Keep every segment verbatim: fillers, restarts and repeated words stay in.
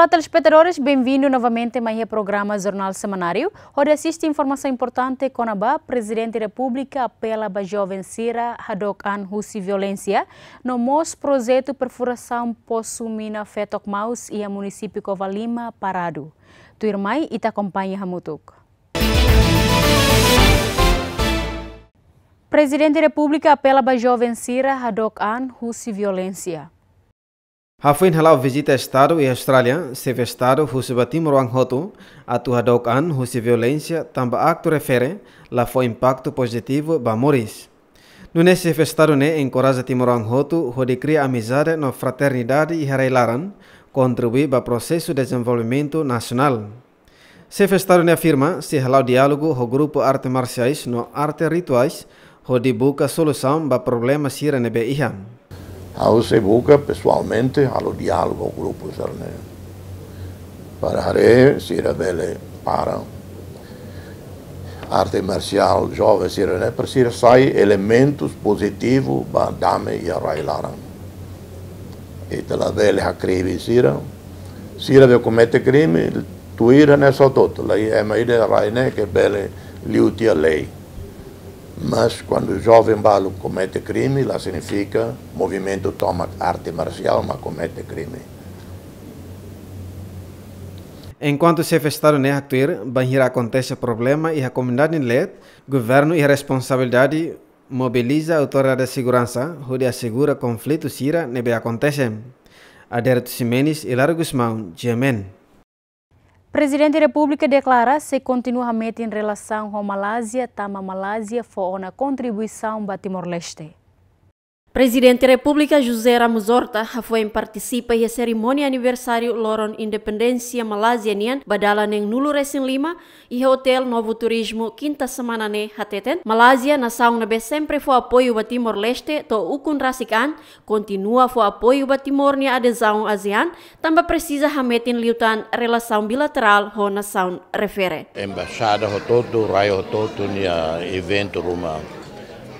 Telespetadores, benvindu novamente mai iha programa Jornál Semanáriu, hodi asiste informasaun importante kona-ba Prezidente Repúblika apela ba joven sira hadook an husi violénsia, no mós projetu perfurasaun posu mina Fetok Maus iha munisípiu Covalima paradu. Tuirmai, ita akompaña hamutuk. Prezidente Repúblika apela ba joven sira hadook an husi violénsia. Hafoin hala'o vizita Estadu iha Austrália, Xefe Estadu husu ba timoroan hotu atu hadook an husi violénsia tanba aktu refere la fó impaktu pozitivu ba moris. Nune'e Xefe Estadu ne'e enkoraja timoroan hotu hodi kria amizade no fraternidade iha rai-laran, kontribui ba prosesu dezenvolvimentu nasionál. Xefe Estadu ne'e afirma, sei hala'o diálogu ho grupu arte marsiais no arte rituais, hodi buka solusaun ba problema sira ne'ebé iha. Ha'u sei buka pesoalmente halo diálogu ho grupu sira-ne'e, para haree sira bele para arte marsiál joven sira-ne'e, para sira sai elementus pozitivu ba dame iha rai-laran. Ita labele hakribi sira. Sira be komete krime, tuir hanesan hotu-hotu. Laiha ema ida iha rai ne'e ke bele liu tiha lei. Mas kuandu joven balu komete krime, la signifika movimentu tomak arte marsiál mak komete krime. Enkuantu Xefe Estadu ne'e haktuir, bainhira akontese problema iha komunidade nia leet, governu iha responsabilidade mobiliza autoridade seguransa hodi asegura konflitu sira ne'ebé akontese. Adérito Ximenes, Hilário Gusmão, G M N. Prezidente Repúblika deklara sei kontinua hametin relasaun ho Malázia, tanba Malázia fó ona kontribuisaun ba Timor-Leste. Prezidente Repúblika José Ramos Horta hafoin partisipa iha serimónia aniversáriu loron independénsia Malázia nian ba dala neen-nulu resin lima, iha Hotel Novo Turismo, kinta semana ne'e hateten, Malázia nasaun ne'ebé sempre fó apoiu ba Timor-Leste to'o ukun rasik an, kontinua fó apoiu ba Timor nia adezaun ASEAN, tanba presiza hametin liután relasaun bilaterál ho nasaun refere. Embaixada hotu-hotu, rai hotu-hotu nia eventu ruma.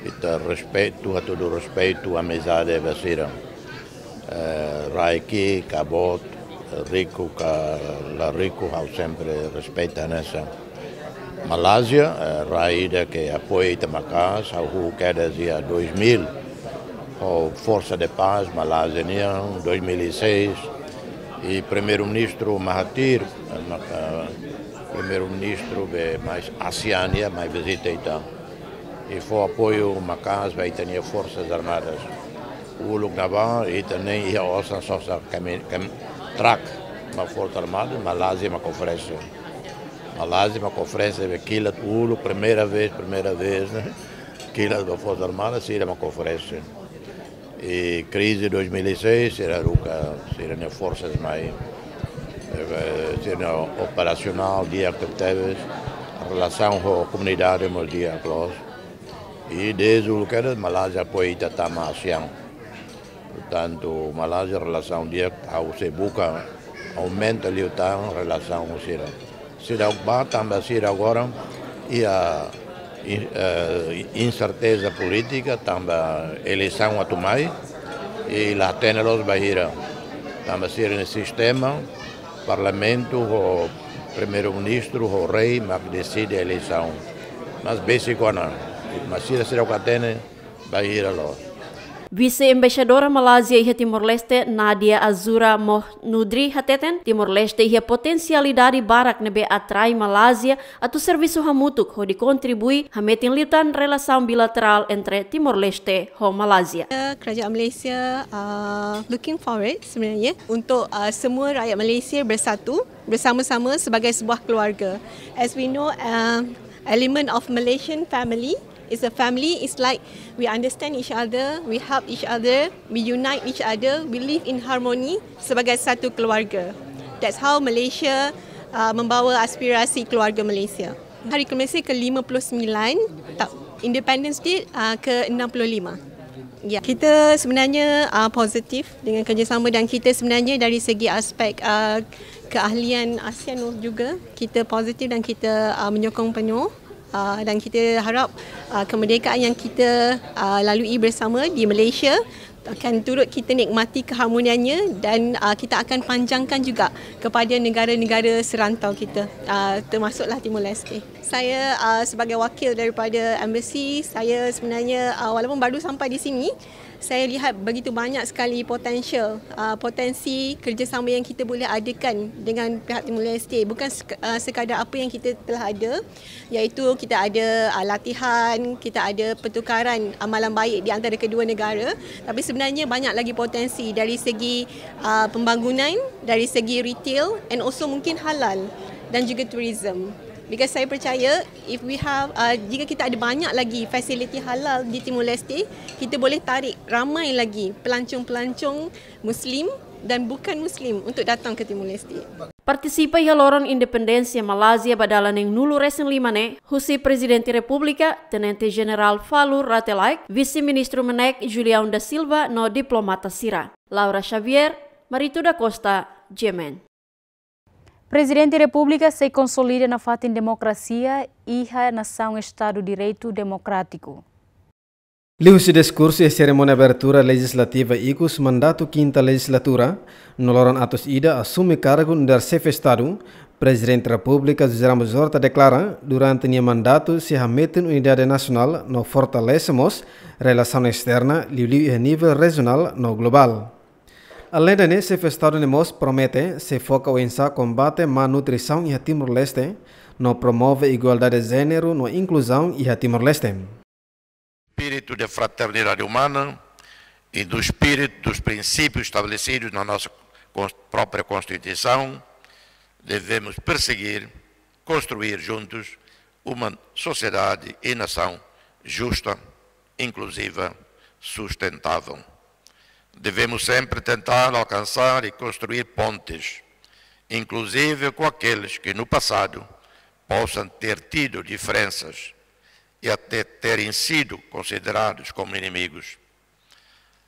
Ita respeitu, hatudu respeitu, amizade ba sira. Eh, rai ki'ik ka boot, riku ka la riku, ha'u sempre respeita hanesan. Malázia, eh, rai ida ke apoia ita maka'as, ha'u hahú kedas iha dois mil, ho Força de Paz Malázia nian, dois mil e seis, i Primeiru-Ministru Mahathir, eh, maka, Primeiru-Ministru be mais ASEAN nian, mai vizita ita. I fó apoiu maka'as ba ita-nia Forsas Armadas. Uluk ne'ebá, ita nein iha osan sosa kami, kam, trak, ba Forsa Armada, Malázia mak oferese. Malázia mak oferese, be kilat uluk, primeira vez, primeira vez, ne'e. Kilat ba Forsa Armada, sira mak oferese. I krize dois mil e seis, sira haruka, sira-nia forsas mai, eh, sira operasionál di'ak tebetebes, relasaun ho komunidade mós di'ak loos. I dezde uluk kedas Malázia apoia ita tama ASEAN. Portantu, Malázia relasaun di'ak, ha'u sei buka aumenta liután relasaun ho sira. Seidauk bá tanba sira agora iha in-, eh, inserteza polítika, tanba eleisaun atu mai, i la hatene loos bainhira. Tanba sira-nia sistema, parlamentu ho primeiru-ministru ho rei mak deside eleisaun. Mas besik ona, mas sira seidauk hatene bainhira loos. Vise-Embaixadora Malázia iha Timor-Leste, Nadia Azura Mohnudri hateten, Timor-Leste iha potensialidade barak ne'ebé atrai Malázia atu servisu hamutuk hodi kontribui hametin liután relasaun bilaterál entre Timor-Leste ho Malázia. Kerajaan Malaysia, uh, looking forward sebenarnya untuk, uh, semua rakyat Malaysia bersatu bersama-sama sebagai sebuah keluarga. As we know, uh, element of Malaysian family is a family, it's like we understand each other, we help each other, we unite each other, we live in harmony sebagai satu keluarga. That's how Malaysia, uh, membawa aspirasi keluarga Malaysia. Hari Kemesi ke lima puluh sembilan, ta-, Independence Day, uh, ke enam puluh lima. Ya, kita sebenarnya, uh, positif dengan kerjasama dan kita sebenarnya dari segi aspek, uh, keahlian ASEAN juga, kita positif dan kita, uh, menyokong penuh. Uh, dan kita harap, uh, kemerdekaan yang kita, uh, lalui bersama di Malaysia Akan turut kita nikmati keharmoniannya dan, uh, kita akan panjangkan juga kepada negara-negara serantau kita, uh, termasuklah Timor Leste. Saya, uh, sebagai wakil daripada embassy, saya sebenarnya, uh, walaupun baru sampai di sini, saya lihat begitu banyak sekali potensial, uh, potensi kerjasama yang kita boleh adakan dengan pihak Timor Leste. Bukan sek-, uh, sekadar apa yang kita telah ada, iaitu kita ada, uh, latihan, kita ada pertukaran amalan baik di antara kedua negara. Tapi sebenarnya banyak lagi potensi dari segi, uh, pembangunan, dari segi retail, and also mungkin halal dan juga tourism. Because saya percaya, if we have, uh, jika kita ada banyak lagi fasiliti halal di Timor Leste, kita boleh tarik ramai lagi pelancong-pelancong Muslim dan bukan Muslim untuk datang ke Timor Leste. Partisipa iha loron independénsia Malázia ba dala neen-nulu resin lima ne'e, husi Prezidente Repúblika, Tenente Jenerál Falur Rate Laek, Vise-Ministru Menek Julião da Silva no diplomata sira. Laura Xavier, Marito da Costa, G M N. Prezidente Repúblika sei konsolida nafatin demokrasia iha nasaun Estadu Direitu Demokrátiku. Liuhusi diskursu iha serimónia abertura lejizlativa ikus mandatu kinta lejizlatura, no loron atus ida asume kargu nu'udar Xefe Estadu, Prezidente Repúblika José Ramos Horta deklara, durante nia mandatu sei hametin unidade nasionál no fortalese mós relasaun esterna, liuliu iha nivel rejionál no globál. Alende ne'e, Xefe Estadu ne'e mós promete sei foka oinsá kombate malnutrisaun iha Timor-Leste, no promove igualdade jéneru no inkluzaun iha Timor-Leste. Espírito de fraternidade humana e do espírito dos princípios estabelecidos na nossa cons-, própria Constituição, devemos perseguir, construir juntos uma sociedade e nação justa, inclusiva, sustentável. Devemos sempre tentar alcançar e construir pontes, inclusive com aqueles que no passado possam ter tido diferenças e até terem sido considerados como inimigos.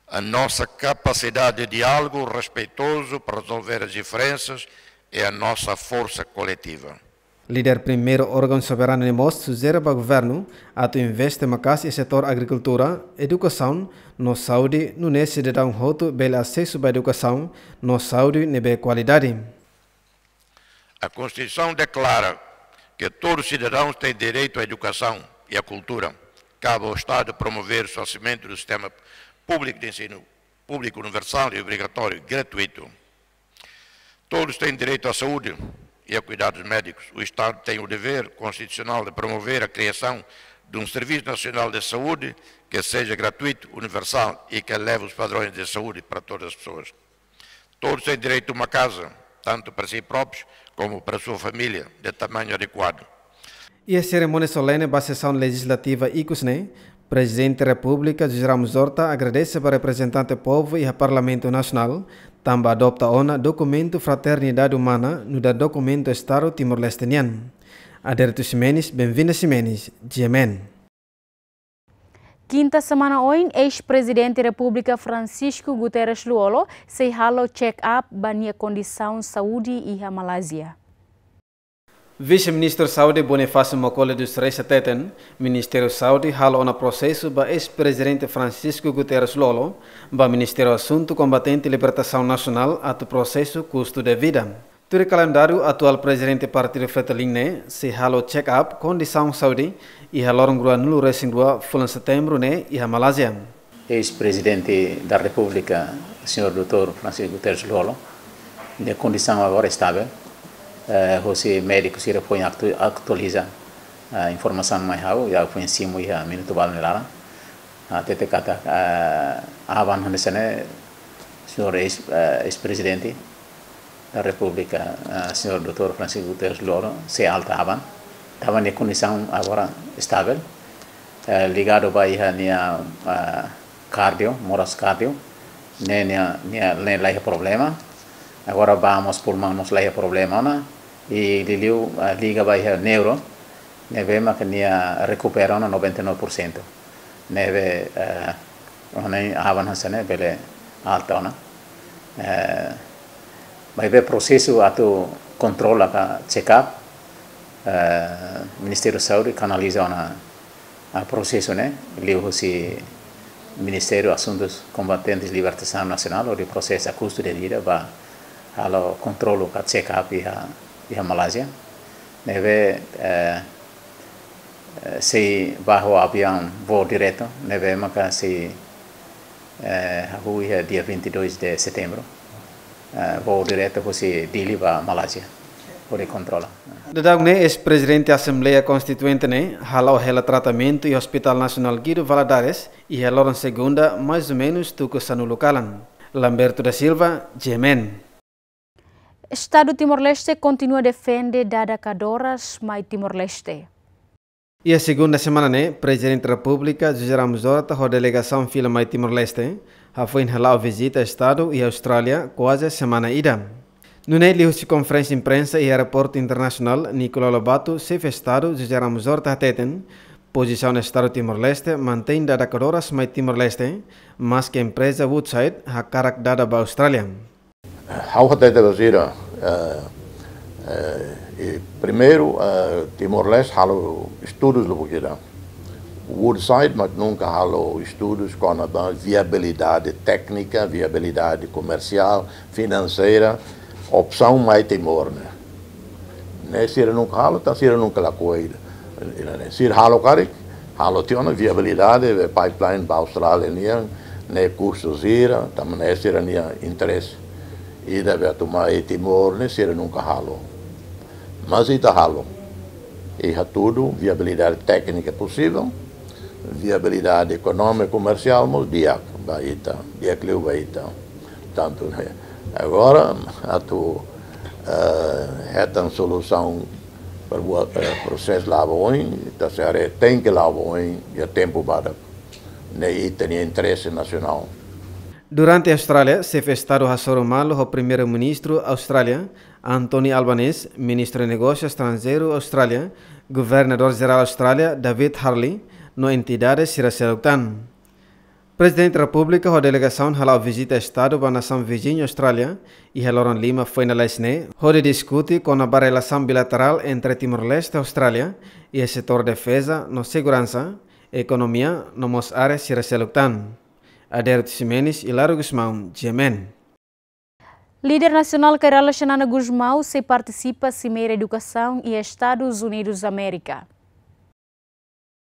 A nossa capacidade de diálogo respeitoso para resolver as diferenças é a nossa força coletiva. Líder primeiru órgaun soberanu ne'e mós sujere ba governu atu investe maka'as iha setór agrikultura, edukasaun no saúde, nune'e sidadaun hotu bele asesu ba edukasaun no saúde ne'ebé kualidade. A Constituição declara que todo cidadão tem direito à educação e à cultura. Cabe ao Estado promover o estabelecimento do sistema público de ensino público universal e obrigatório gratuito. Todos têm direito à saúde e a cuidados médicos. O Estado tem o dever constitucional de promover a criação de um Serviço Nacional de Saúde que seja gratuito, universal e que eleve os padrões de saúde para todas as pessoas. Todos têm direito a uma casa, tanto para si próprios como para sua família, de tamanho adequado. Iha serimónia solene ba sesaun lejizlativa ikus ne'e, Prezidente Repúblika José Ramos Horta agradese ba reprezentante povu iha Parlamentu Nasionál, tanba adopta ona dokumentu fraternidade umana nu'udar dokumentu Estadu Timor-Leste nian. Adérito Ximenes, Benvinda Ximenes, G M N. Kinta semana oin, eis-Prezidente Repúblika Francisco Guterres Lú-Olo sei halo check-up ba nia kondisaun saúde iha Malázia. Vise-Ministru Saúde Bonifácio Mokole dos Reis hateten, Ministériu Saúde halo ona prosesu ba eis-Prezidente Francisco Guterres Lú-Olo, ba Ministériu Asuntu Kombatente Libertasaun Nasionál atu prosesu kustu de vida. Tuir kalendáriu, atuál Prezidente Partidu Fretilin ne'e sei halo check-up kondisaun saúde iha loron ruanulu resin rua fulan Setembru ne'e iha Malázia. Eis-Prezidente da Repúblika, señór doutór Francisco Guterres Lú-Olo, nia kondisaun agora estável, eh, hosi médiku sira foin aktu-, atualiza, eh, informasaun mai ha'u, ha'u foin simu iha minutu balu nia laran. Ah, hatete katak, ah, aban hanesan ne'e, señór eis, ah, eis-Prezidente da Repúblika, ah, señór doutór Francisco Guterres Lú-Olo, sei alta aban. Tanba nia kondisaun agora estável. Eh, ligadu ba iha nia, ah, kardio, moras kardio. Ne'e nia, nia, ne'e la iha problema. Agora ba mós pulmaun mós la iha problema ona. I liuliu, ah, liga ba iha neuro. Ne'ebé maka nia rekupera ona noventa e nove por cento. Ne'ebé, eh, ona aban hanesan ne'e bele alta ona. Eh, maibé prosesu atu kontrola ka check-up, eh, Ministériu Saúde kanaliza ona, ah, prosesu ne'e, liuhusi Ministériu Asuntus Kombatentes Libertasaun Nasionál hodi prosesa kustu devida ba halo kontrolu ka check-up iha, iha Malázia. Ne'ebé, eh, eh, sei bá ho aviaun voo diretu, ne'ebé maka sei, eh, hahú iha dia vinte e dois de setembro. Eh, voo diretu husi Dili ba Malázia, hodi kontrola. Daudaun ne'e, eis-prezidente Asembleia Konstituinte ne'e hala'o hela tratamentu iha Hospital Nasionál Guido Valadares, iha loron segunda, mais ou menus tuku sanulu kalan. Lamberto da Silva, G M N. Estadu Timor-Leste kontinua defende dada kadoras mai Timor-Leste. Iha segunda semana ne'e, Prezidente Repúblika José Ramos Horta ho delegasaun fila mai Timor-Leste hafoin hala'o vizita Estadu iha Austrália kuaze semana ida. Nune'e liuhusi konferénsia imprensa iha Aeroportu Internasionál Nicolau Lobato, Xefe Estadu José Ramos Horta hateten, pozisaun Estadu Timor-Leste mantein dada kadoras mai Timor-Leste, maske empreza Woodside hakarak dada ba Austrália. Ha'u hatete ba sira, eh, eh, i primeiru, eh, Timor-Leste halo estudus lubuk ida. Woodside mak nunka halo estudus kona-ba viabilidade téknika, viabilidade komersiál, finanseira, opsaun mai Timor ne'e. Ne'e sira nunka halo, tan sira nunka lakohi. Ne'e sira halo karik, halo tiha ona viabilidade, be pipeline ba Austrália nian, ne'e kustu sira, tanba ne'e sira-nia interese. Ida be atu mai Timor ne'e sira nunka halo. Mas ita halo. I hatudu viabilidade téknika posivel, viabilidade ekonómika, komersiál mós di'ak ba ita, di'ak liu ba ita. Tantu, eh, agora atu, eh, hetan solusaun para buat, eh, prosesu la'o ba oin, ita sei haree tenke la'o ba oin, iha tempu badak. Ne'e ita-nia interese nasionál. Durante Austrália, Xefe Estadu hasoru malu ho Primeiru-Ministru Austrália, Anthony Albanese, Ministru Negósiu Estranjeiru Austrália, Governadór Jerál Austrália, David Hurley, no entidade sira seluk tan. Prezidente Repúblika ho delegasaun hala'o vizita Estadu ba nasaun viziñu Austrália, iha loron lima foin lalais ne'e, hodi diskute kona-ba relasaun bilaterál entre Timor-Leste ho Austrália, iha setór defeza no seguransa, ekonomia, no mós área sira seluk tan. Aderito Ximenes, Hilário Gusmão, G M N. Líder nasionál Kay Rala Xanana Gusmão sei partisipa Simeira Edukasaun iha Estadus Unidus Amérika.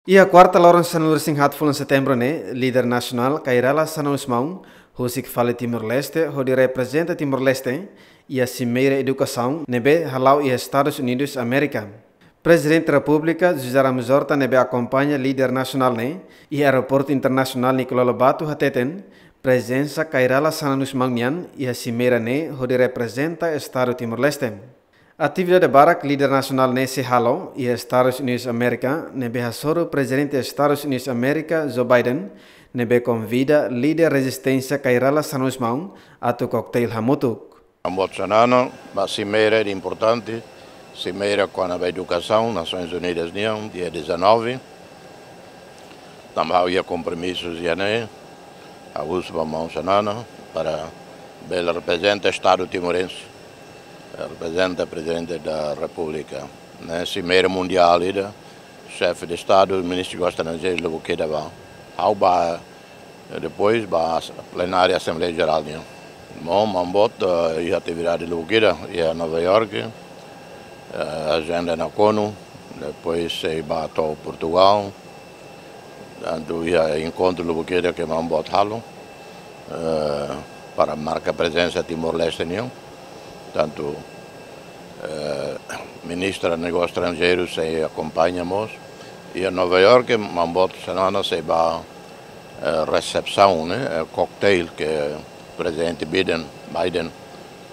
Iha kuarta loron sanulu-resin-haat fulan Setembru ne'e, líder nasionál Kay Rala Xanana Gusmão husik fali Timor-Leste hodi reprezenta Timor-Leste iha Simeira Edukasaun ne'ebé hala'o iha Estadus Unidus Amérika. Prezidente Repúblika José Ramos Horta ne'ebé akompaña líder nasionál ne'e iha Aeroportu Internasionál Nicolau Lobato hateten, prezensa Kay Rala Xanana Gusmão nian iha simeira ne'e hodi reprezenta Estadu Timor-Leste. Atividade barak líder nasionál ne'e sei halo iha Estadus Unidus Amérika ne'ebé hasoru Prezidente Estadus Unidus Amérika Joe Biden ne'ebé konvida líder rezisténsia Kay Rala Xanana Gusmão atu kokteil hamutuk. Maun-boot Xanana, ba simeira ida importante, simeira kona-ba edukasaun, Nasoins Unidas nian, dia dezanove. Tanba ha'u iha kompromisu iha ne'e, ha'u husu ba maun Xanana, para bele reprezenta Estadu timorense, reprezenta Prezidente da Repúblika. Ne'e simeira mundiál ida, Xefe de Estadu, Ministru Negósius Estranjeirus lubuk ida bá. Ha'u bá, eh, depois bá as-, plenária Asembleia Jerál nian. Maun, maun-boot, eh, iha atividade lubuk ida, iha Nova York, eh, ajenda nakonu, depois sei bá to'o Portugal. Tantu iha enkontru lubuk ida ke maun-boot halo, eh, para marka prezensa Timor-Leste nian. Tantu, eh, Ministra Negósius Estranjeirus sei akompaña mós. Iha Nova York, maun-boot Xanana sei bá, eh, resepsaun, ne'e, eh, cocktail ke Prezidente Biden, Biden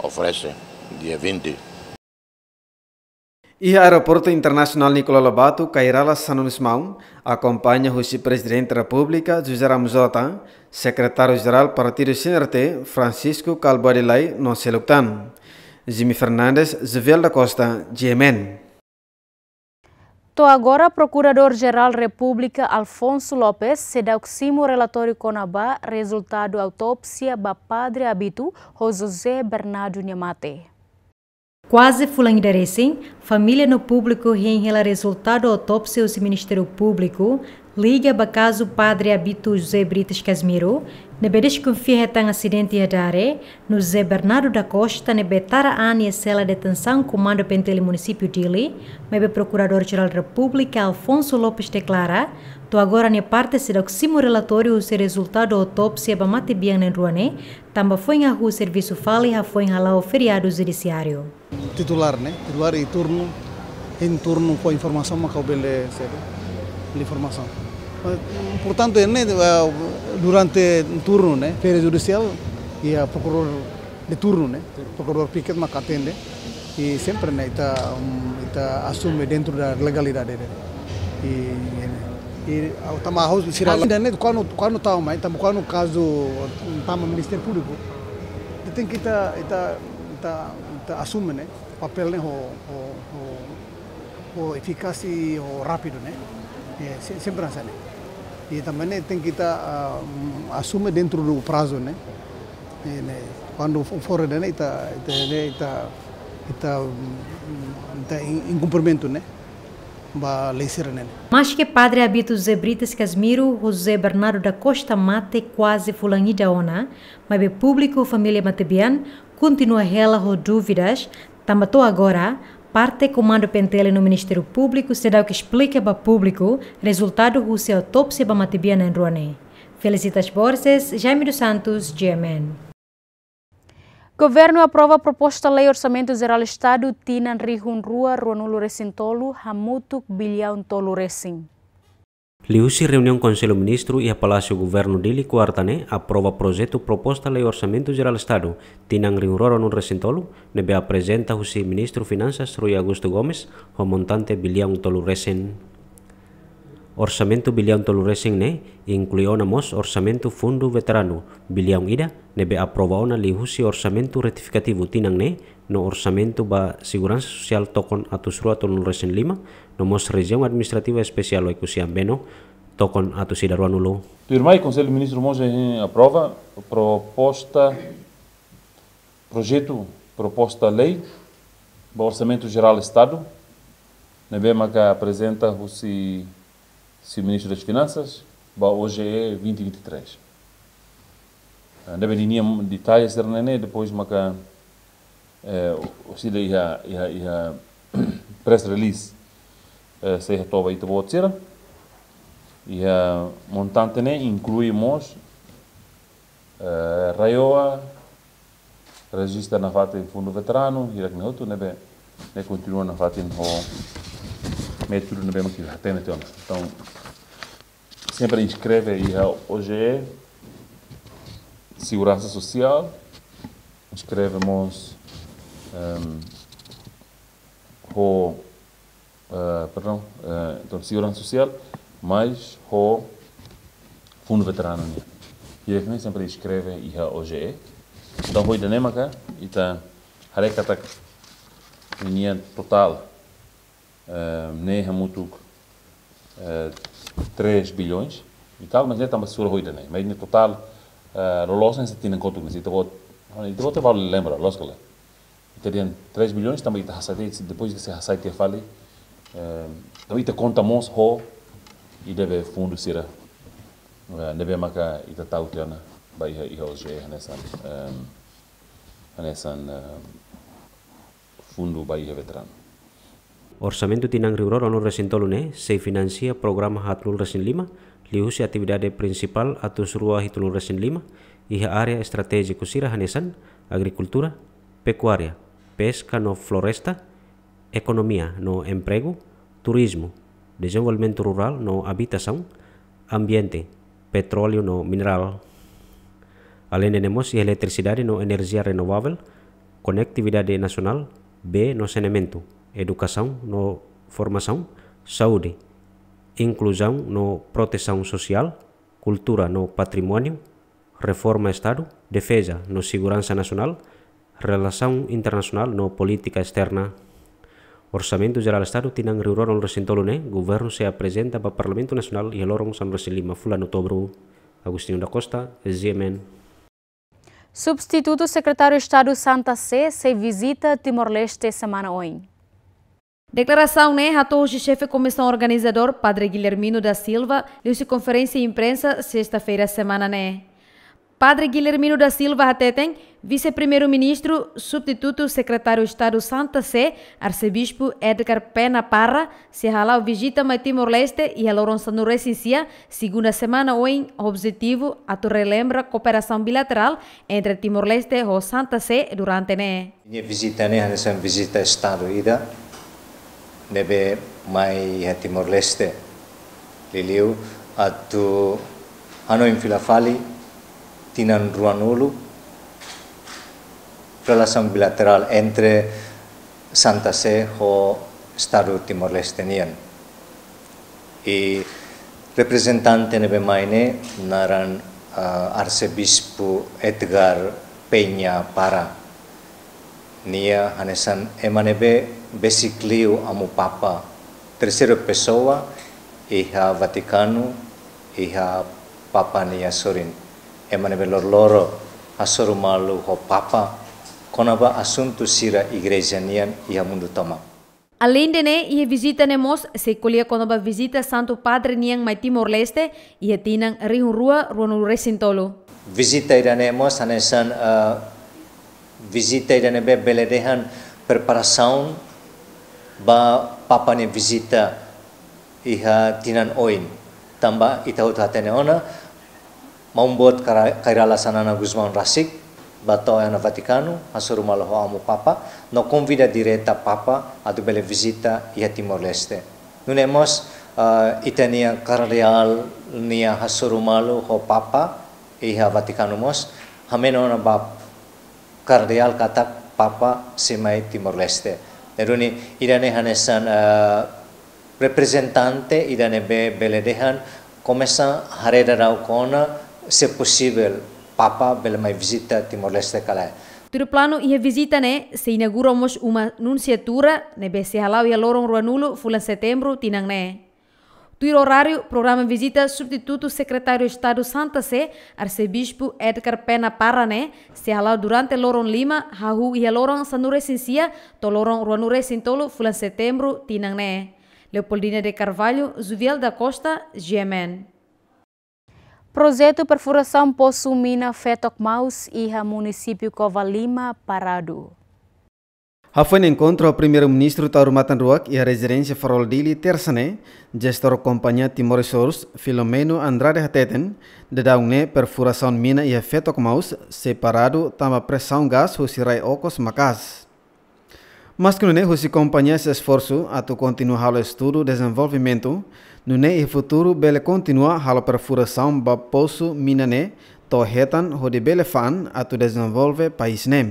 oferese dia vinte. Iha Aeroportu Internasionál Nicolau Lobato, Kay Rala Xanana Gusmão akompaña husi Prezidente Repúblika José Ramos Horta, Sekretáriu Jerál Partidu C N R T, Francisco Kalbuadi Lay, no seluk tan. Jimmy Fernandes, Jovel da Costa, G M N. To'o agora, Prokuradór-Jerál Repúblika Alfonso Lopes seidauk simu relatóriu kona-ba rezultadu autópsia ba Padre Abito ho José Bernardo nia mate. Kuaze fulan ida resin, família no públiku hein hela rezultadu autópsia husi Ministériu Públiku liga ba kazu Padre Abito José Brites Casimiro, ne'ebé deskonfia hetan asidente iha Dare, no José Bernardo da Costa, ne'ebé tara an iha sela detensaun Komandu PNTL Munisípiu Dili, maibé Prokuradór-Jerál Repúblika Alfonso Lopes deklara, to'o agora nia parte seidauk simu relatóriu husi rezultadu autópsia ba matebian na'in-rua ne'e, tanba foin hahú servisu fali hafoin hala'o feriadu judisiáriu. Titulár, ne'e? Titulár i turnu, hein turnu fó informasaun, mak ha'u bele, sabe, bele informasaun. Portantu, ne'e, eh, durante turnu, ne'e, feira judisiál, iha prokuradór de turnu, ne'e, prokuradór piket mak atende. I sempre, ne'e, ita, um, ita asume dentro da legalidade, ne'e. I, i, i, ah, tanba ha'u sira, ainda, ne'e, kuandu, kuandu tau mai, tanba kuandu kazu tama Ministériu Públiku, ita tenke, ita, ita, ita, ita asume, ne'e, papél ne'e ho, ho, ho, ho efikasi, ho rápidu, ne'e. Eh, se-, sempre hanesan ne'e. I tanba ne'e tenke ita, ah, mm, asume dentro do prazo, ne'e. Eh, ne'e, kuandu fo-, fora ida-ne'e ita, ita, ne'e ita, ita, mm, ita in-, inkumprimentu, ne'e, ba lei sira-ne'e. Maske Padre Abito José Brites Casimiro ho José Bernardo da Costa mate kuaze fulan ida ona, maibé públiku, família matebian, kontinua hela ho dúvidas, tanba to'o agora, parte Komandu PNTL no Ministériu Públiku seidauk esplika ba públiku rezultadu husi autópsia ba matebian na'in-rua ne'e. Felicitas Borges, Jaime dos Santos, G M N. Governu aprova proposta lei Orsamentu Jerál Estadu tinan rihun rua ruanulu resin tolu hamutuk biliaun tolu resin. Liuhusi reuniaun Konsellu Ministru iha Palásiu Governu Dili, kuarta ne'e, aprova projetu proposta lei Orsamentu Jerál Estadu tinan rihun rua ruanulu resin tolu, ne'ebé aprezenta husi Ministru Finansas Rui Augusto Gomes, ho montante biliaun tolu resin. Orsamentu biliaun tolu resin ne'e inklui ona mós orsamentu Fundu Veteranu biliaun ida, ne'ebé aprova ona liuhusi orsamentu retifikativu tinan ne'e, no orsamentu ba seguransa sosiál tokon atus rua tolunulu resin lima, no mós Rejiaun Administrativa Espesiál Oekusi Ambeno tokon atus ida ruanulu. Tuirmai, Konsellu Ministru mós, eh, aprova proposta, projetu proposta lei ba Orsamentu Jerál Estadu, ne'ebé maka aprezenta husi, husi Ministru das Finansas ba O G E vinte vinte e três. Ah, ne'ebé ninia detalles sira-ne'e, depois maka, eh, orsida iha, iha, iha press release, eh, sei hato'o ba ita-boot sira. Iha montante ne'e inklui mós, eh, RAEOA, rejista nafatin Fundu Veteranu, hirak-ne'e hotu, ne'ebé, ne'e kontinua nafatin ho métodu ne'ebé mak ita hatene tiha ona. Entaun, sempre inskreve iha O G E, Seguransa Sosiál, inskreve mós, ehm, ho, eh, perdão, eh, entaun, Seguransa Sosiál, mais ho Fundu Veteranu nian. Hirak-ne'e sempre inskreve iha O G E. Entaun, ho ida-ne'e maka ita haree katak ninia totál, eh, ne'e hamutuk, eh, três bilhões e tal, mas ne'e tanba sura ho ida-ne'e. Mas nia totál, eh, loloos ne'e sei tinan kotuk ne'e, se ita-boot, ita-boot bele lembra, loos ka lae? Ita dehan três bilhões, tanba ita hasai, depois ita sei hasai tiha fali, eh, tanba ita konta mós ho ida be fundu sira, eh, ne'ebé maka ita tau tiha ona ba iha, iha O G E hanesan, eh, hanesan, eh, fundu ba iha veteranu. Orsamentu tinan rihun rua ruanulu resin tolu ne'e sei finansia programa haatnulu resin lima, liuhusi atividade prinsipál atus rua hitunulu resin lima, iha área estratéjiku sira hanesan agrikultura, pekuária, peska no floresta, ekonomia no empregu, turizmu, dezenvolvimentu rurál no abitasaun, ambiente, petróleu no minerál. Aleinde ne'e mós iha eletrisidade no enerjia renovavel, konektividade nasionál, bee no saneamentu, edukasaun no formasaun, saúde, inkluzaun no protesaun sosiál, kultura no patrimóniu, reforma Estadu, defeza no seguransa nasionál, relasaun internasionál no polítika esterna. Orsamentu Jerál Estadu tinan rihun rua ruanulu resin tolu ne'e, Governu sei aprezenta ba Parlamentu Nasionál iha loron sanulu resin lima fulan Outubru. Agostinho da Costa, G M N. Substitutu Sekretáriu Estadu Santa Sé sei vizita Timor-Leste semana oin. Deklarasaun ne'e hato'o husi xefe Komisaun Organizadór, Padre Guilhermino da Silva, liuhusi konferénsia imprensa, sesta-feira semana ne'e. Padre Guilhermino da Silva hateten, Vise-Primeiru-Ministru, Substitutu Sekretáriu Estadu Santa Sé, Arsebispu Edgar Pena Parra, sei hala'o vizita mai Timor-Leste iha loron sanulu-resin-sia, segunda semana oin, objetivu atu relembra kooperasaun bilaterál entre Timor-Leste ho Santa Sé durante ne'e. Nia vizita ne'e hanesan vizita Estadu ida ne'ebé mai iha Timor-Leste, liuliu atu hanoin fila fali tinan ruanulu relasaun bilaterál entre Santa Sé ho Estadu Timor-Leste nian. I reprezentante ne'ebé mai ne'e naran, ah, Arsebispu Edgar Peña Parra. Nia hanesan ema ne'ebé besik liu Amu Papa, terceira pessoa iha Vatikanu, iha Papa nia sorin. Ema ne'ebé loroloron hasoru malu ho Papa kona-ba asuntu sira igreja nian iha mundu tomak. Aleinde ne'e, iha vizita ne'e mós sei ko'alia kona-ba vizita Santu Padre nian mai Timor-Leste iha tinan rihun rua ruanulu-resin-tolu. Vizita ida-ne'e mós hanesan, eh, vizita ida ne'ebé bele dehan preparasaun ba Papa nia vizita iha tinan oin. Tanba ita hotu hatene ona, Maun Boot Kara-, Kay Rala Xanana Gusmão rasik bá to'o iha Vatikanu, hasoru malu ho Amu Papa, no konvida direta Papa atu bele vizita iha Timor-Leste. Nune'e mós, ah, ita-nia kardeál nia hasoru malu ho Papa iha Vatikanu mós, hameno ona ba kardeál katak Papa sei mai Timor-Leste. Ne'e duni ida-ne'e hanesan, eh, reprezentante ida ne'ebé bele dehan komesa haree daudaun ona se posivel Papa bele mai vizita Timor-Leste ka lae. Tuir planu iha vizita ne'e sei inaugura mós uma nunsiatura ne'ebé sei hala'o iha loron ruanulu fulan Setembru tinan ne'e. Tuir oráriu, programa vizita Substitutu Sekretáriu Estadu Santa Sé, Arsebispu Edgar Pena Parra ne'e, sei hala'o durante loron lima, hahú iha loron sanulu-resin-sia, to'o loron ruanulu-resin-tolu fulan Setembru tinan ne'e. Leopoldina de Carvalho, Juviel da Costa, G M N. Projetu perfurasaun posu mina Fetok Maus iha munisípiu Covalima paradu. Hafoin enkontru ho Primeiru-Ministru Taur Matan Ruak iha rezidénsia Farol Dili, tersa ne'e, jestór Kompañia Timor Resource, Filomeno Andrade hateten, daudaun ne'e perfurasaun mina iha Fetok Maus sei paradu tanba presaun gás husi rai okos maka'as. Maski nune'e, husi kompañia sei esforsu atu kontinua halo estudu dezenvolvimentu, nune'e iha futuru bele kontinua halo perfurasaun ba posu mina ne'e to'o hetan hodi bele fa'an atu dezenvolve país ne'e.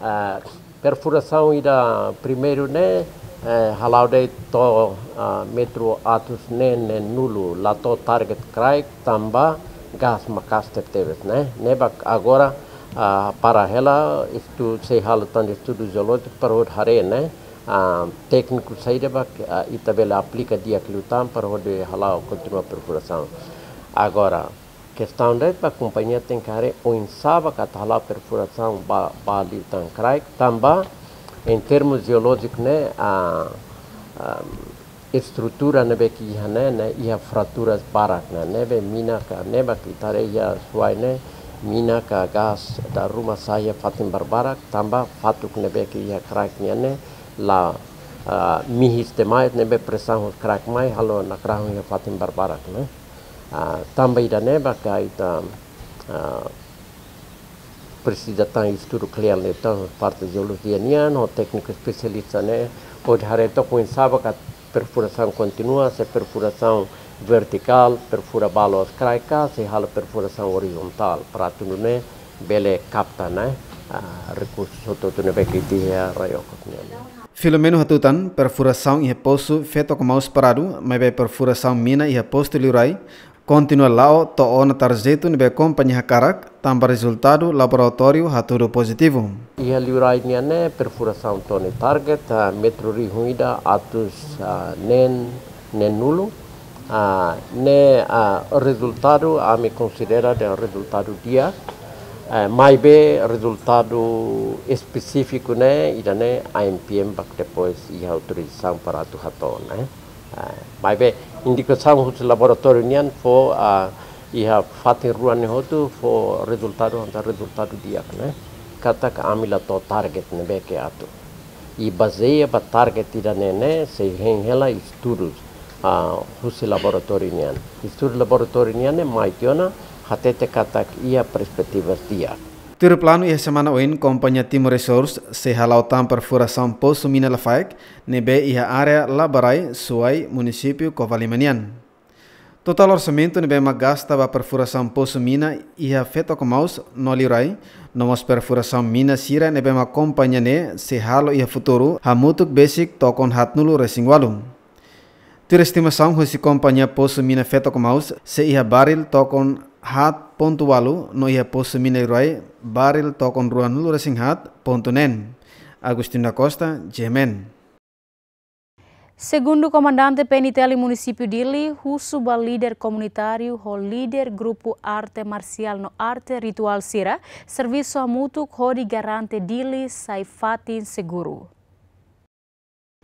Ah, perfurasaun ida primeiru ne'e, eh, hala'o de'it to'o, ah, metru atus neen neen-nulu, la to'o target kraik tanba gás maka'as tebetebes ne'e. Ne'ebé agora, ah, para hela, estu-, sei halo tan estudu jeolójiku para hodi haree ne'e, ah, tékniku saida ba, ah, ita bele aplika di'ak liután para hodi hala'o kontinua perfurasaun. Agora, kestaun de'it ba kompañia tenke haree oinsá ba atu hala'o perfurasaun ba, ba liután kraik, tanba, em termos jeolójiku ne'e, ah, ah, estrutura ne'ebé ke iha ne'e, ne'e iha fraturas barak ne'e, ne'ebé mina ka, ne'ebé ke ita haree iha Suai ne'e, mina ka gás dala ruma sa'e iha fatin barbarak, tanba fatuk ne'ebé ke iha kraik nian ne'e, la, ah, mihis demais, ne'ebé presaun husi kraik mai, halo nakrahun iha fatin barbarak ne'e. Ah, tanba ida-ne'e ba ka ita, ah, presiza tan estudu kle'an liután parte jeolojia nian, ho tékniku espesialista ne'e, hodi haree took oinsá ba ka perfurasaun kontinua, se perfurasaun vertikál, perfura balu kraik ka, se halo perfurasaun orizontál, para atu nune'e bele kapta ne'e, ah, rekursu hotu-hotu ne'ebé ke iha rai okos nian. Filomeno hatutan, perfurasaun iha posu Fetok Maus paradu, maibé perfurasaun mina iha postu Liurai kontinua la'o to'o ona tarjetu ne'ebé kompañia hakarak, tanba rezultadu laboratóriu hatudu pozitivu. Iha Liurai nian ne'e perfurasaun to'o nia target, ah, metru rihun ida atus, ah, neen neen-nulu, ah, ne'e, ah, rezultadu, ami konsidera dehan rezultadu di'ak, Eh, maibé rezultadu espesífiku ne'e, ida-ne'e A M P M bá depois iha autorizasaun para atu hato'o, ne'e. Eh, maibé indikasaun husi laboratóriu nian fó, ah, iha fatin rua ne'e hotu fó rezultadu, hanesan rezultadu di'ak, ne'e. Katak ami la to'o target ne'ebé ke atu. I bazeia ba target ida-ne'e ne'e sei hein hela estudu, ah, husi laboratóriu nian. Estudu laboratóriu nian ne'e mai tiha ona hatete katak iha perspetiva di'ak. Tuir planu iha semana oin, kompañia Timor Resource sei hala'o tan perfurasaun posu mina Lafaek, ne'ebé iha área Labarai, Suai, munisípiu Covalima nian. Totál orsamentu ne'ebé mak gasta ba perfurasaun posu mina iha Fetokmaus no Liurai, no mós perfurasaun mina sira ne'ebé mak kompañia ne'e sei halo iha futuru, hamutuk besik tokon haatnulu resin ualu. Tuir estimasaun husi kompañia posu mina Fetokmaus, sei iha baril tokon haat pontu ualu, no iha posu mina Liurai, baril tokon ruanulu resin haat pontu neen. Agostinho da Costa, G M N. Segundu Komandante P N T L munisípiu Dili, husu ba líder komunitáriu ho líder grupu arte marsiál no arte rituál sira, servisu hamutuk hodi garante Dili sai fatin seguru.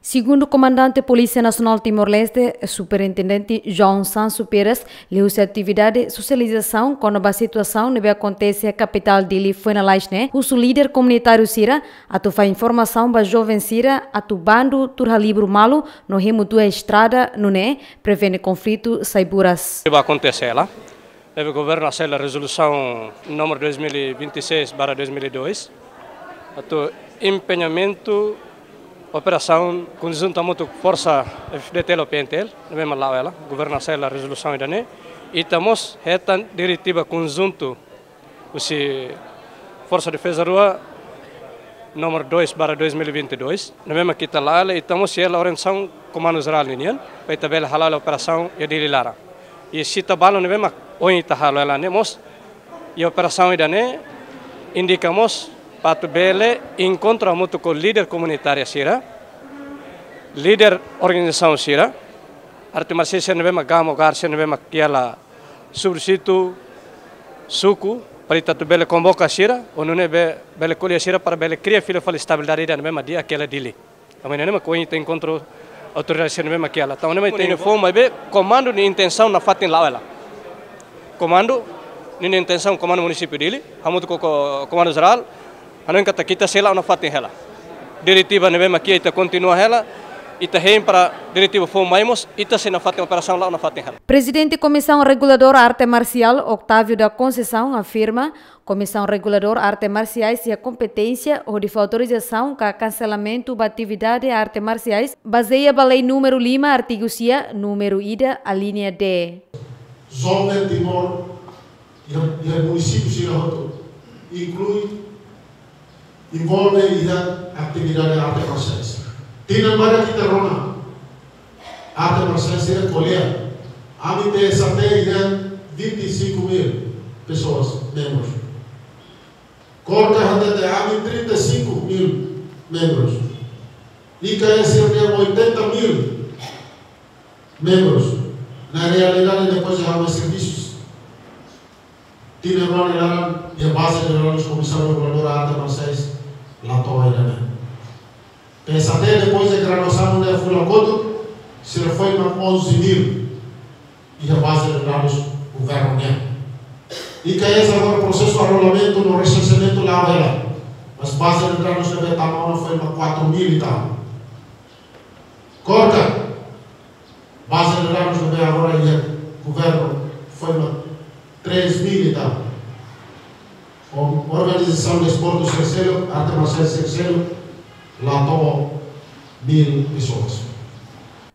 Segundu Komandante Polísia Nasionál Timor-Leste, Superintendente João Sancho Pires, liuhusi atividade sosializasaun kona-ba situasaun ne'ebé akontese iha kapitál Dili foin lalais ne'e, husu líder komunitáriu sira atu fó informasaun ba joven sira atu bandu tuur halibur malu no hemu tuir estrada, nune'e prevene konflitu sai buras. Ba akontese hela, ne'ebé governu hasai hela rezolusaun númeru dois mil e vinte e seis barra dois mil e dois, atu empeñamentu operasaun konjuntu hamutuk forsa F-FDTL ho P N T L, ne'ebé mak la'o hela, governu hasai hela rezolusaun ida-ne'e, ita mós hetan diretiva konjuntu husi Forsa Defeza Rua númeru dois barra dois mil e vinte e dois, ne'ebé mak ita la'o hela, ita mós iha hela orientasaun Komandu Jerál ninian, para ita bele hala'o hela operasaun iha Dili laran. I se ita balu ne'ebé mak ohin ita halo hela ne'e mós, i operasaun ida-ne'e indika mós para atu bele enkontru hamutuk ho líder komunitária sira, líder organizasaun sira, arte marsiál sira ne'ebé mak gama ho garse ne'ebé mak iha hela subdistritu, suku, para ita atu bele konvoka sira, ho nune'e be-, bele ko'alia sira para bele kria fila fali estabilidade ida ne'ebé mak di'ak iha hela Dili. Tanba ne'e mak ohin ita enkontru autoridade sira ne'ebé mak iha hela. Tanba ne'e mak ita informa be komandu nia intensaun nafatin la'o hela. Komandu nia intensaun, komandu munisípiu Dili, hamutuk ho ko-, Komandu Jerál, hanoin katak ita sei la'o nafatin hela. Diretiva ne'ebé mak iha ita kontinua hela, ita hein para diretiva foun mai mós, ita sei nafatin operasaun la'o nafatin hela. Prezidente Komisaun Reguladora Arte Marsiál, Octávio da Conceição, afirma, Komisaun Reguladora Arte Marsiais iha kompeténsia hodi fó autorizasaun ka kanselamentu ba atividade arte marsiais, bazeia ba lei númeru lima, artigu sia, númeru ida, alínea D. Joven Timor iha, iha munisípiu sira hotu, inklui, envolve iha atividade arte marsiais. Tinan badak ita rona arte marsiais sira ko'alia. Ami P S A T iha vinte e cinco mil pessoas, membros. KORKA hatete ami trinta e cinco mil membros. I K S iha oitenta mil membros. Na realidade, depois de halo serviços, tinan rua nia laran, iha baze de dados Komisaun Reguladora Arte Marsiais la to'o ida-ne'e. P S A T, depois de graduasaun ne'e fulan kotuk, sira foin mak onze mil iha baze de dados governu nian. I K S agora prosesu arrolamentu no resenseamentu la'o hela. Mas baze de dados ne'ebé tama ona foin mak quatro mil e tal. KORKA, baze de dados ne'ebé agora iha governu foin mak três mil e tal. Organizasaun desportu sira seluk, arte marsiál sira seluk, la to'o mil pessoas.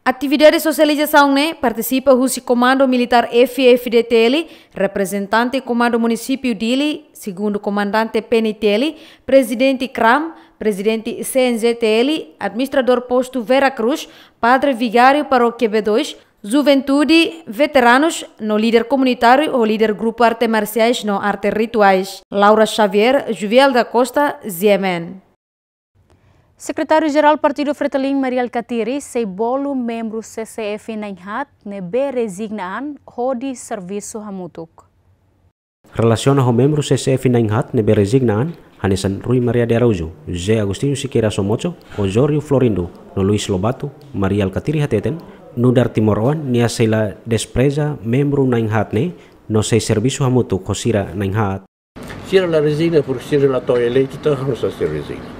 Atividade sosializasaun ne'e partisipa husi Komandu Militár F-FDTL, reprezentante Komandu Munisípiu Dili, Segundu Komandante P N T L, Prezidente kram, Prezidente C N J T L, Administradór Postu Vera Cruz, Padre Vigáriu Parókia B dois, juventude, veteranus, no líder komunitáriu ho líder grupu arte marsiais no arte rituais. Laura Xavier, Juvial da Costa, G M N. Sekretáriu-Jerál Partidu Fretilin, Mari Alkatiri, sei bolu membru C C F na'in-haat ne'ebé rezigna an hodi servisu hamutuk. Relasiona ho membru C C F na'in-haat ne'ebé rezigna an, hanesan Rui Maria de Araújo, José Agostinho Sequeira Somocho, Osório Florindo, no Luis Lobato, Mari Alkatiri hateten, nu'udar timoroan nia sei la despreza membru na'in-haat ne'e, no sei servisu hamutuk ho sira na'in-haat. Sira la rezigna, porque sira la to'o eleitu, entaun ha'u sei rezigna.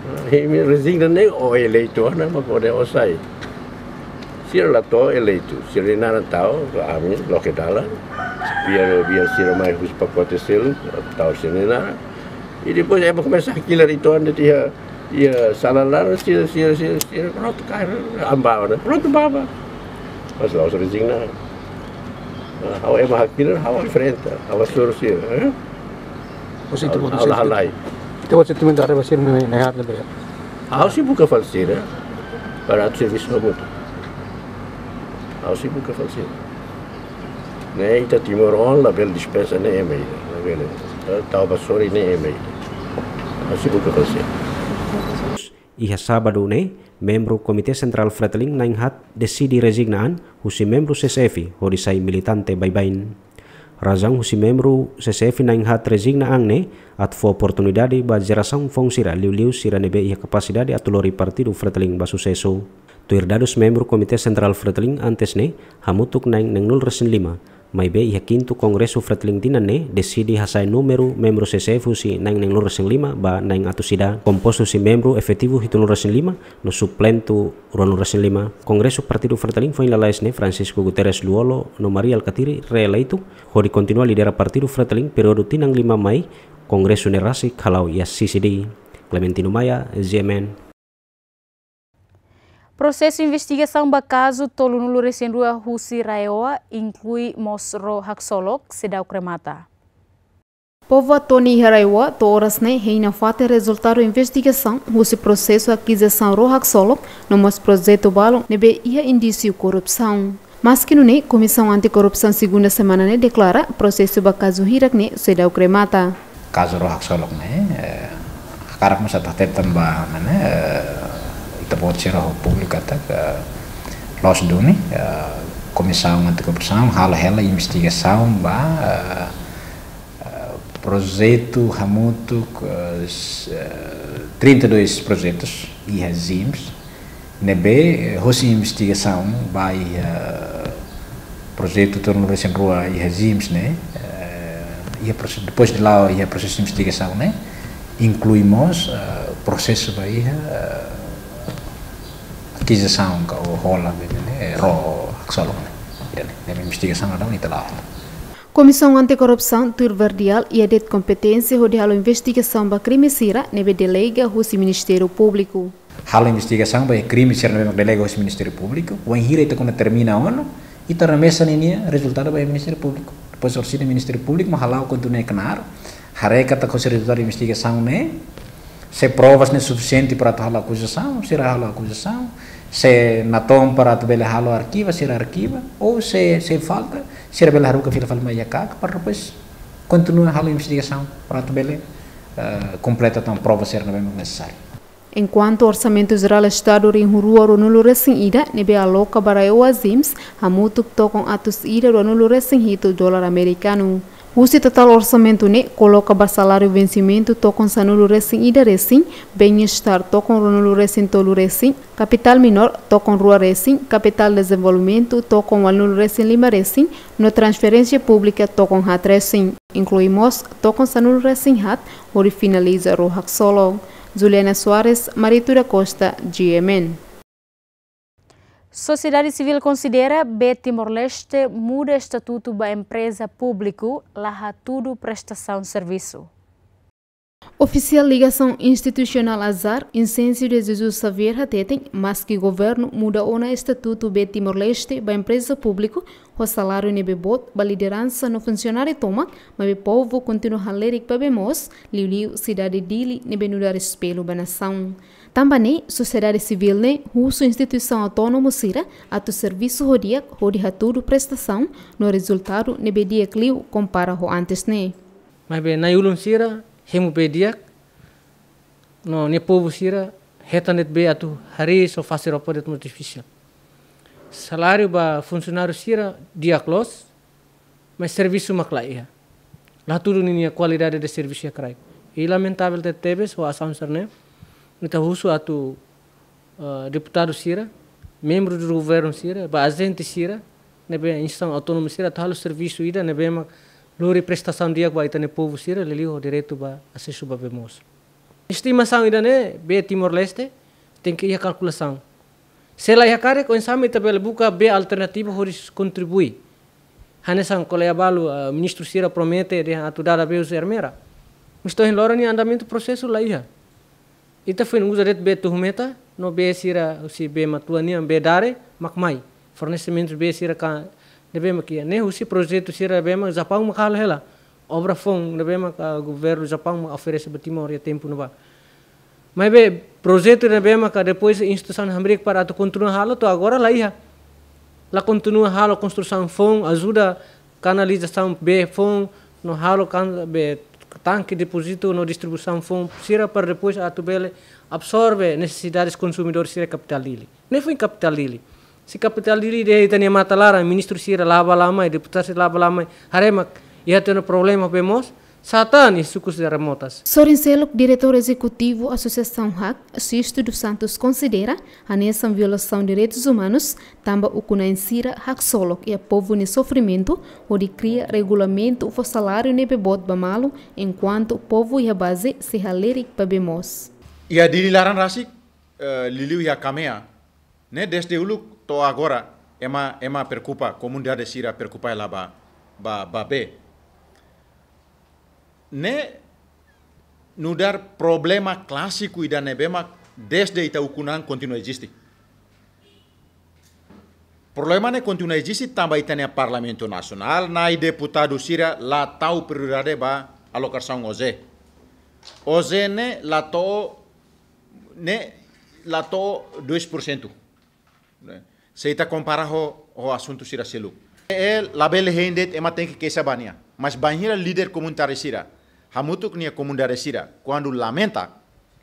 Ah, imi rezigna ne'e ó eleitu, ah, ne'e mak ó-nia ó sai. Sira la to'o eleitu, sira-nia naran tau, ami loke dalan. Biar, biar sira mai husi pakote seluk, tau sira-nia naran. I depois ema komesa hakilar uitoan de'it iha, iha sala laran, sira, sira, sira, sira, prontu, kaer, ambawa, ne'e. Prontu, baba. Mas la'ós rezigna. Ah, ha'u ema hakilar, ha'u enfrenta, ha'u hasoru sira, eh? Você tem Ha'u, outro ha'u la sentimento? Halai. Tem outro sentimento, arriba, sira, ne'e, ne'e, ne'e, ne'e. Ha'u sei buka fali sira, para atu servisu hamutuk. Ha'u sei buka fali sira. Ne'e, ita timoroan labele dispensa ne'e ema ida, labele. Tau ba sorin ne'e ema ida. Ha'u sei buka fali sira. Iha sábadu ne'e, membru Komité Sentrál Fretilin na'in-haat deside rezigna an husi membru C C F, hodi sai militante baibain. Razaun husi membru C C F na'in-haat rezigna an ne'e, atu fó oportunidade ba jerasaun foun sira, liuliu sira ne'ebé iha kapasidade atu lori Partidu Fretilin ba susesu. Tuir dadus membru Komité Sentrál Fretilin antes ne'e, hamutuk na'in-neenulu-resin-lima, maibé iha kintu Kongresu Fretilin tinan ne'e, deside hasa'e númeru membru C C F husi na'in-neenulu-resin-lima ba na'in-atus ida, kompostu husi membru efetivu hitunulu-resin-lima, no suplentu ruanulu-resin-lima. Kongresu Partidu Fretilin foin lalais ne'e, Francisco Guterres Lú-Olo no Mari Alkatiri reeleitu, hodi kontinua lidera Partidu Fretilin períodu tinan lima mai Kongresu ne'e rasik hala'o iha sisi di. Clementino Maia, G M N. Prosesu investigasaun ba kazu tolunulu-resin-rua husi RAEOA, inklui mós ró haksolok, seidauk remata. Povu Atoni iha RAEOA to'o oras ne'e hein nafatin rezultadu investigasaun husi prosesu akizasaun ró haksolok no mós projetu balun ne'ebé iha indísiu korrupsaun. Maski nune'e, Komisaun Anti-Korrupsaun segunda semana ne'e deklara prosesu ba kazu hirak ne'e seidauk remata. Kazu ró haksolok ne'e, eh, hakarak mós atu hateten ba, ne'e, eh, ita-boot sira ho públiku katak, eh, loos duni, eh, Komisaun Anti-Korrupsaun halo hela investigasaun ba, eh, eh, projetu hamutuk, eh, s-, eh, trinta e dois projetus iha ZEESM, ne'ebé, eh, hosi investigasaun ba iha, eh, projetu tolunulu-resin-rua iha ZEESM ne'e, eh, iha prose-, depois de la'o iha prosesu investigasaun ne'e, inklui mós, eh, prosesu ba iha, eh, akizasaun ka hola, ne'e, ró haksolok ne'e. Ida-ne'e, ne'e investigasaun daudaun ita la'o. Komisaun Anti-Korrupsaun tuir verdial iha de'it kompeténsia hodi halo investigasaun ba krime sira ne'ebé delega husi Ministériu Públiku. Halo investigasaun ba krime sira ne'ebé delega husi Ministériu Públiku, wainhira ita kuandu termina ona, ita remesa ninia rezultadu ba Ministériu Públiku. Depois orsida Ministériu Públiku mak hala'o kontinua knaar, haree katak hosi rezultadu investigasaun ne'e, se provas ne'e sufisiente para atu halo akuzasaun, sira halo akuzasaun, se natoon para atu bele halo arkiva, sira arkiva, ou se, se falta, sira bele haruka fila fali mai iha KAK, para depois kontinua halo investigasaun, para atu bele, eh, kompleta tan prova sira ne'ebé nesesáriu. Enkuantu Orsamentu Jerál Estadu rihun rua ruanulu-resin-ida ne'ebé aloka ba RAEOA ZEESM hamutuk tokon atus ida ruanulu-resin-hitu dolar amerikanu. Husi totál orsamentu ne'e koloka ba saláriu vensimentu tokon sanulu-resin-ida resin, bem-estar tokon ruanulu-resin-tolu resin, kapitál minór tokon rua resin, kapitál dezenvolvimentu tokon ualunulu-resin-lima resin, no transferénsia públika tokon haat resin, inklui mós tokon sanulu-resin-haat, hodi finaliza ró haksolok. Juliana Soares, Marito da Costa, G M N. Sosiedade Sivíl konsidera B Timor-Leste muda estatutu ba empreza públiku la hatudu prestasaun servisu. Ofisiál Ligasaun Institusionál Azar, Incêncio de Jesus Xavier hateten, maski governu muda ona estatutu B Timor-Leste ba empreza públiku, ho saláriu ne'ebé boot ba lideransa no funsionáriu tomak, maibé povu kontinua halerik ba bee moos, liuliu sidade Dili ne'ebé nu'udar espellu ba nasaun. Tanba ne'e, sosiedade sivíl ne'e husu instituisaun autónomu sira atu servisu ho di'ak hodi hatudu prestasaun no rezultadu ne'ebé di'ak liu kompara ho antes ne'e. Maibé na'i-ulun sira hemu bee di'ak, no nia povu sira hetan de'it bee atu hariis ou fase roupa de'it mós difisil. Saláriu ba funsionáriu sira di'ak loos, maibé servisu mak la iha. La tudu ninia kualidade de servisu iha kraik. I lamentavel tebetebes ho asaun sira-ne'e, ita husu atu, eh, deputadu sira, membru do governu sira, ba ajente sira, ne'ebé instituisaun autónoma sira, atu halo servisu ida ne'ebé mak lori prestasaun di'ak ba ita-nia povu sira, liuliu ho direitu ba asesu ba bee moos. Estimasaun ida-ne'e, bee Timor-Leste, tenke iha kalkulasaun. Se la iha karik, oinsá mak ita bele buka bee alternativa hodi kontribui. Hanesan ko'alia balu, ah, ministru sira promete dehan atu dada bee husi Ermera. Mas to'o ohin loron nian andamentu prosesu la iha. Ita foin uza de'it bee Tuhumeta, no bee sira husi bee Matuan nian, bee Dare, mak mai. Fornesimentu bee sira ka ne'ebé mak iha. Ne'e husi projetu sira ne'ebé mak Japaun mak halo hela. Obra foun ne'ebé mak, ah, governu Japaun mak oferese ba Timor iha tempu ne'ebá. Maibé projetu ne'ebé maka depois instituisaun hamriik para atu kontinua halo to'o agora la iha. La kontinua halo konstrusaun foun, ajuda kanalizasaun bee foun, no halo kan bee tanke depozitu no distribuisaun foun sira para depois atu bele absorve nesesidades konsumidór sira kapitál Dili. Ne'e foin kapitál Dili. Se kapitál Dili dehan ita-nia matan laran, ministru sira la bá la mai, deputadu sira la bá la mai, haree mak iha tiha ona problema bee moos, sá tan iha sukus remotas. Sorin seluk, diretór ezekutivu Asosiasaun HAK, Sisto dos Santos, konsidera hanesan violasaun direitus umanus, tanba ukun-na'in sira haksolok iha povu nia sofrimentu, hodi kria regulamentu fó saláriu ne'ebé boot ba malu, enkuantu povu iha baze sei halerik ba bee moos. Iha Dili laran rasik, eh, liuliu iha Kamea, ne'e dezde uluk to'o agora ema, ema preokupa, komunidade sira preokupa hela ba, ba, ba bee. Ne'e nu'udar problema klásiku ida ne'ebé mak dezde ita ukun-an kontinua eziste. Problema ne'e kontinua eziste tanba ita-nia Parlamentu Nasionál, Nai deputadu sira la tau prioridade ba alokasaun OJE. OJE ne'e la to'o ne'e la to'o dois por cento. Ne'e, se ita kompara ho, ho asuntu sira seluk. E labele hein de'it ema tenke keixa ba nia. Mas bainhira líder komunitáriu sira hamutuk nia komunidade sira, kuandu lamenta,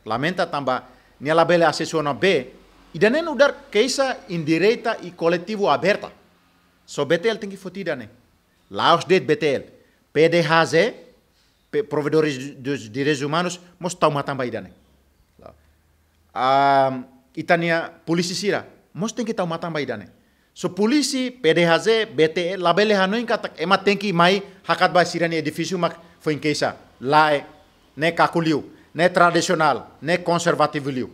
lamenta tanba nia labele asesu ona bee, ida-ne'e nu'udar keixa indireta i koletivu aberta. Só B T L tenke foti ida-ne'e. La'ós de'it B T L. P D H Z, pe-, Provedores dos Direitos Humanos, mós tau matan ba ida-ne'e. Ah, ita-nia polísia sira mós tenke tau matan ba ida-ne'e. Só polísia, P D H Z, B T L, labele hanoin katak ema tenke mai hakat ba sira-nia edifísiu mak foin keixa. Lae, ne'e kaku liu, ne'e tradisionál, ne'e konservativu liu.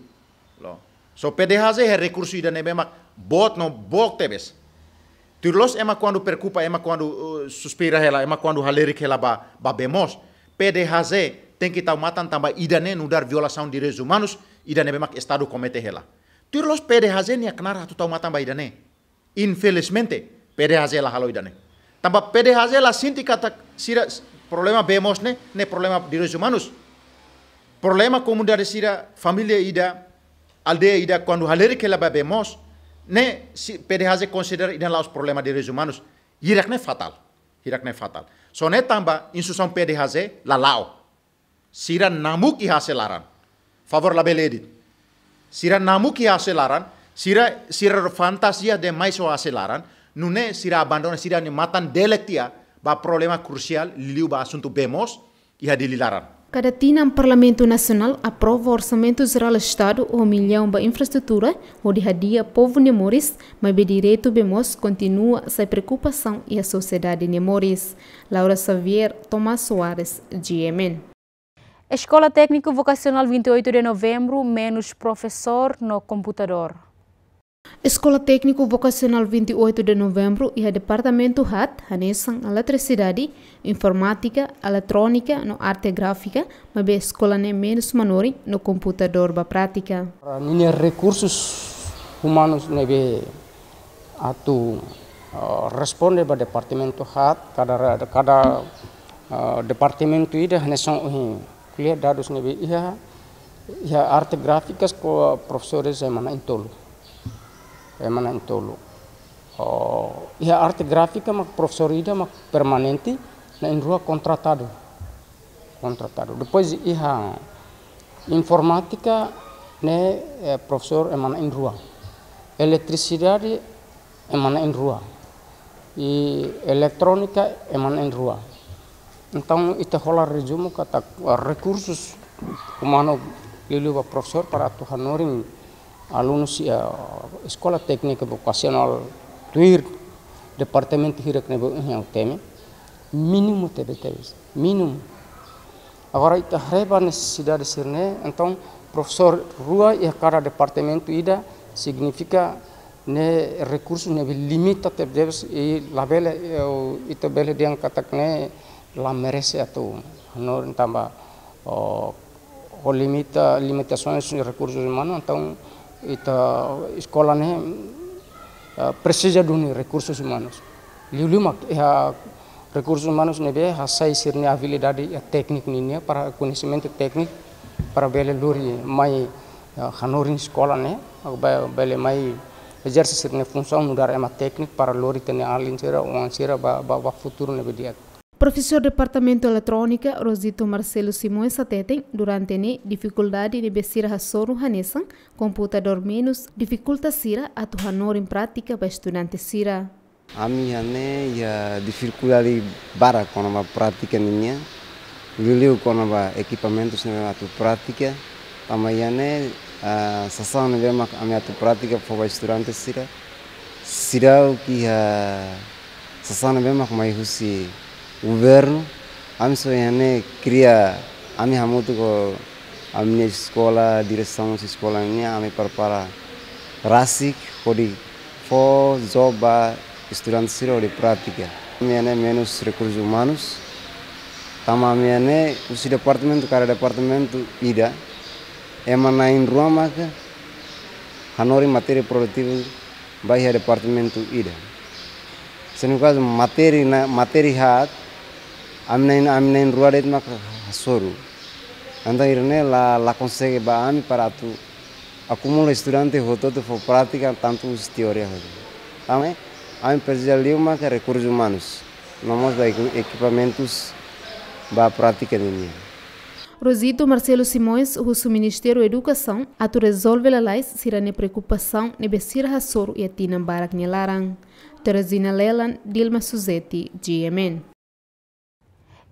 Lo. Só P D H Z iha rekursu ida ne'ebé mak boot no boot tebes. Tuir loos ema kuandu preokupa, ema kuandu, uh, suspeita hela, ema kuandu halerik hela ba, ba bee moos, P D H Z tenke tau matan tanba ida-ne'e nu'udar violasaun direitus umanus, ida ne'ebé mak Estadu komete hela. Tuir loos P D H Z nia knaar atu tau matan ba ida-ne'e. Infelizmente, P D H Z la halo ida-ne'e. Tanba P D H Z la sente katak sira problema bee moos ne'e, ne'e problema direitus umanus. Problema komunidade sira, família ida, aldeia ida, kuandu halerik hela ba bee moos, ne'e se P D H Z konsidera ida la'ós problema direitus umanus. Hirak-ne'e fatál. Hirak-ne'e fatál. Só ne'e tanba instituisaun P D H Z la la'o. Sira namuk iha hasil laran. Favór labele edit. Sira namuk iha hasil laran, sira, sira fantasia demais ho hasil laran, nune'e sira abandona sira-nia matan delek tiha ba problema krusiál liuliu ba asuntu bee moos iha Dili laran. Kada tinan Parlamentu Nasionál aprova Orsamentu Jerál Estadu ho millaun ba infraestrutura hodi hadi'a povu nia moris, maibé direitu bee moos kontinua sai preokupasaun iha sosiedade nia moris. Laura Xavier, Tomás Soares, G M N. Escola Técnico Vocacional vinte e oito de Novembro, menus profesór no komputadór. Escola Técnico Vocacional vinte e oito de Novembro iha departamentu haat, hanesan eletrisidade, informátika, eletrónika no arte gráfika, maibé eskola ne'e menus manorin no komputadór ba prátika. Ninia rekursus umanus ne'ebé atu, eh, responde ba departamentu haat, kada re-, kada, eh, departamentu ida hanesan ohin ko'alia dadus ne'ebé iha, iha arte gráfikas ho profesores ema na'in-tolu. Ema na'in-tolu. Oh, iha arte gráfika mak profesór ida mak permanente, na'in-rua kontratadu. Kontratadu. Depois iha informátika ne'e, eh, profesór ema na'in-rua. Eletrisidade ema na'in-rua. I eletrónika ema na'in-rua. Entaun, ita hola rezumu katak, ah, rekursus umanu liuliu ba profesór para atu hanorin alunus iha, ah, Eskola Téknika Vokasionál tuir departamentu hirak ne'ebé ohin ha'u temi, mínimu tebetebes, mínimu. Agora, ita haree ba nesesidade sira-ne'e, entaun, profesór rua iha kada departamentu ida, signifika ne'e rekursu ne'ebé limita tebetebes i labele, eh, ita bele dehan katak ne'e la merese atu hanorin tanba, oh, ho limita, limitasaun rekursus umanus, entaun ita eskola ne'e, eh, presiza duni rekursus umanus. Liuliu mak iha rekursus umanus ne'ebé hasai sira-nia abilidade iha tékniku nian, para koñesimentu tékniku, para bele lori mai, eh, hanorin eskola ne'e, ba-, bele mai ezerse sira-nia funsaun nu'udar ema tékniku para lori ita-nia alin sira, oan sira ba, ba, ba futuru ne'ebé di'ak. Profesór Departamentu Eletrónika, Rosito Marcelo Simões hateten, durante ne'e difikuldade ne'ebé sira hasoru hanesan komputadór menus difikulta sira atu hanorin prátika ba estudante sira. Ami iha ne'e iha difikuldade barak kona-ba prátika nian, liuliu kona-ba ekipamentus ne'ebé atu prátika. Tanba iha ne'e, ah, sasán ne'ebé mak ami atu prátika fó ba estudante sira, seidauk iha sasán ne'ebé mak mai husi governu. Ami só iha ne'e kria, ami hamutuk ho ami-nia eskola, diresaun eskola nian, ami prepara rasik hodi fó job ba estudante sira hodi prátika. Ami iha ne'e menus rekursus umanus. Tanba ami iha ne'e husi departamentu kada departamentu ida, ema na'in-rua maka hanorin matéria produtivu ba iha departamentu ida. Se no kazu matéria na, matéria haat, ami na'in, ami na'in-rua de'it maka hasoru. Entaun ida-ne'e la, la konsege ba ami para atu akumula estudante hotu-hotu fó prátika tantu husi teoria hotu. Tanba ami presiza liu maka rekursus umanus, no mós ba equi-, ekipamentus ba prátika nian. Rosito Marcelo Simões husu Ministériu Edukasaun atu rezolve lalais sira-nia preokupasaun ne'ebé sira hasoru iha tinan barak nia laran. Teresina Lelan, Dilma Suzeti, G M N.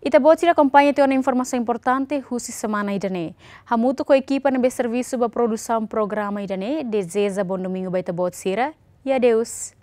Ita-boot sira akompaña tiha ona informasaun importante husi semana ida-ne'e. Hamutuk ho ekipa ne'ebé servisu ba produsaun programa ida-ne'e, dezeja bom domingo ba ita-boot sira, i adeus.